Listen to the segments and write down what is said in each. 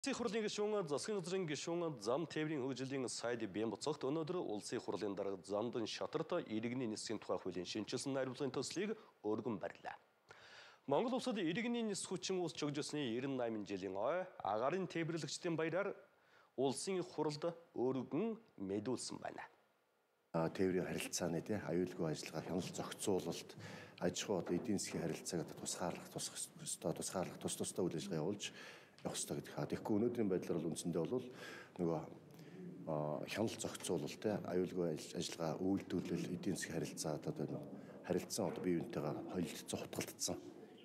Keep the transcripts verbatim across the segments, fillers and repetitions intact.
Улсын хурлын гишүүн засгийн газрын гишүүн зам тээврийн хөгжлийн сайд бян буцагт өнөөдөр улсын хурлын дарга замдан шатарт иргэний нисхийн тухай хуулийн шинжилсэн найруулгын төслийг өргөн барьлаа. Монгол улсад иргэний нис хүчин уус чөгжсөний ninety жилийн ой агарын тээвэрлэгчдийн баяраар улсын хурлд өргөн мэдүүлсэн байна. Тээврийн харилцааны тий аюулгүй ажиллагаа хяналт зохицуулалт аж ахуй эдийн засгийн харилцааг тусгаарлах тусах ёстой тусгаарлах тус тустай үйл ажиллагаа явуулж явах ёстой гэдэг хаа. Тэгэхгүй өнөөдрийн байдлаар бол үндсэндээ бол нөгөө хяналт зохицуулалт тий аюулгүй ажиллагаа үйлдвэрлэл эдийн засгийн харилцаа одоо харилцан одоо бие биентэйгээ холилдсон хутгалдсан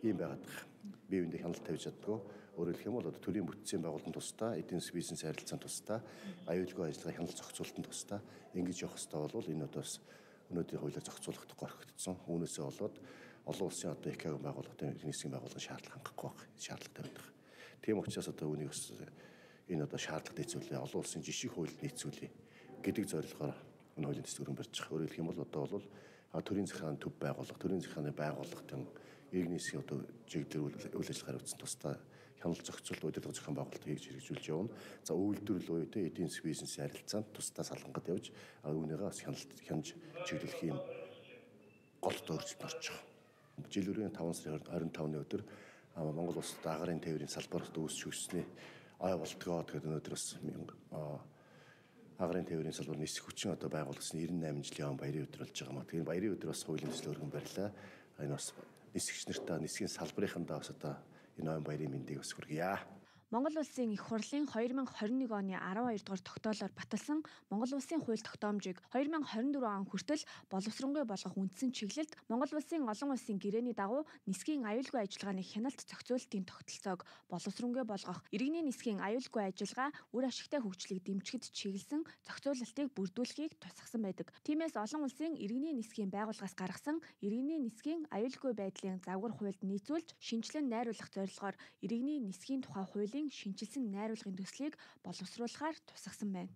ийм байгаад байгаа. Бие биендээ хяналт тавьж чаддгүй. Өөрөөр хэлэх юм бол одоо төрийн бүтцийн байгуулалтын тусдаа эдийн засгийн бизнес харилцааны тусдаа аюулгүй ажиллагаа хяналт зохицуулалтын тусдаа ингэж явах ёстой бол энэ одоо өнөөдрийн хуулиар зохицуулахдаггүй орхигдсон. Үүнээсээ болоод олон улсын одоо ЭК-ийн байгууллагын иргэний нисхийн байгууллагын шаардлага хангахгүй байх шаардлага тавьдаг. Тийм учраас одоо үүнийг бас энэ одоо шаардлага нийцүүлээ. Олон улсын жишг хуулийг нийцүүлээ гэдэг зорилгоор энэ хуулийн төслийг өргөн барьж байгаа. Өөрөөр хэлэх юм бол одоо бол төрийн захиргааны төв байгууллага, төрийн захиргааны байгууллагын иргэний нисхийн одоо чиглэлээр үйл ажиллагаа явуулсан тусдаа хяналт зохицуулалт удирдлага зохион байгуулалт хийж хэрэгжүүлж явна. За үйлдвэрлэл уяатай эдийн засгийн бизнесийн харилцаанд тусдаа салгангад явж үүнийгээ бас хяналт хянаж чиглүүлэх юм гол дөржид орж байгаа. Жил өрийн таван сарын хорин тавны өдөр Монгол улсад агарын тээврийн салбарт үүсч өгснээ ой болтгоо тэгээд өнөөдөр бас агарын тээврийн салбар нисэх хүчин одоо байгуулсан ninety-eight жилийн баярын өдөр болж байгаа юм. Тэгээд баярын өдөр бас хуулийн төслөөр өргөн барьлаа. Энэ бас нисгэгч нартаа нисхийн салбарынхандаа бас одоо энэ ой баярын мэндийг бас хүргье. Монгол улсын их хурлын two thousand twenty-one оны twelve дугаар тогтоолоор баталсан Монгол улсын хууль тогтоомжийг two thousand twenty-four он хүртэл боловсронгүй болгох үндсэн чиглэлд Монгол улсын олон улсын гэрээний дагуу нисхийн аюулгүй ажиллагааны хяналт зохицуулалтын тогтолцоог боловсронгүй болгох, иргэний нисхийн аюулгүй ажиллагаа үр ашигтай хөгжлийг дэмжихэд чиглэсэн зохицуулалтыг бүрдүүлэхийг тусгасан байдаг. Тиймээс олон улсын иргэний нисхийн байгууллагаас гаргасан иргэний нисхийн аюулгүй байдлын загвар хуульд нийцүүлж шинжилэн найруулах зорилгоор иргэний нисхийн тухай хууль шинжилсэн найруулгын төслийг боловсруулахаар тусгасан байна.